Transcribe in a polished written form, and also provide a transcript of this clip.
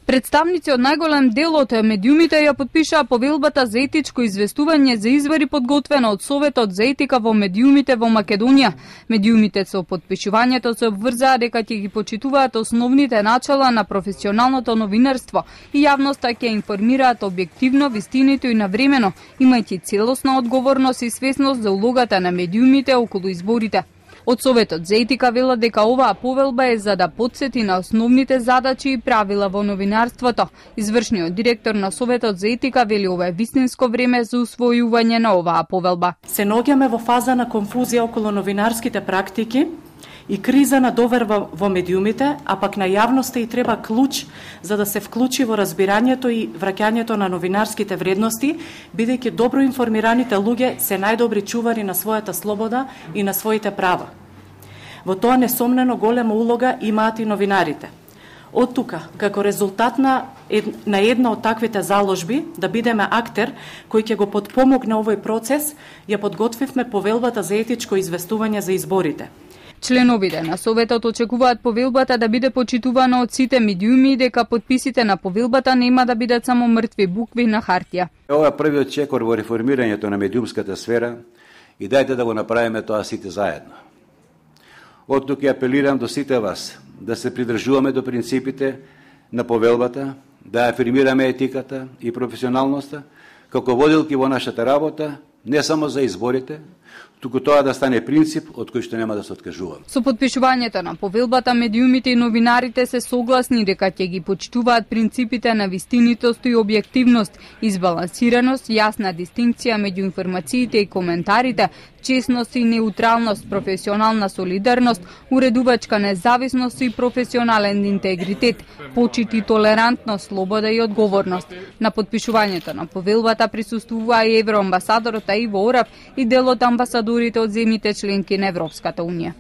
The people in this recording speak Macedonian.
Представници од најголем дел од медиумите ја подпишаа повелбата за етичко известување за извори подготвена од Советот за етика во медиумите во Македонија. Медиумите со подпишувањето се обврзаа дека ќе ги почитуваат основните начала на професионалното новинарство и јавноста ќе информираат објективно, вистинито и навремено, имајќи целосна одговорност и свесност за улогата на медиумите околу изборите. Од Советот за етика велат дека оваа повелба е за да потсети на основните задачи и правила во новинарството. Извршниот директор на Советот за етика вели ова е вистинско време за усвојување на оваа повелба. Се наоѓаме во фаза на конфузија околу новинарските практики и криза на доверба во медиумите, а пак на јавноста и треба клуч за да се вклучи во разбирањето и враќањето на новинарските вредности, бидејќи добро информираните луѓе се најдобри чувари на својата слобода и на своите права. Во тоа несомнено голема улога имаат и новинарите. Од тука, како резултат на една од таквите заложби, да бидеме актер кој ќе го потпомогне овој процес, ја подготвивме повелбата за етичко известување за изборите. Членовите на Советот очекуваат повелбата да биде почитувана од сите медиуми и дека подписите на повелбата нема да бидат само мртви букви на хартија. Ова е првиот чекор во реформирањето на медиумската сфера и дајте да го направиме тоа сите заедно. Од тука апелирам до сите вас да се придржуваме до принципите на повелбата, да афирмираме етиката и професионалноста како водилки во нашата работа, не само за изборите, туку тоа да стане принцип од кој што нема да се откажуваме. Со подпишувањето на повелбата, медиумите и новинарите се согласни дека ќе ги почитуваат принципите на вистинитост и објективност, избалансираност, јасна дистинкција меѓу информациите и коментарите, честност и неутралност, професионална солидарност, уредувачка независност и професионален интегритет, почит и толерантност, слобода и одговорност. На подпишувањето на повелбата присуствува и евроамбасадорот Иво Орав и дел од амбасадорите од земјите членки на Европската унија.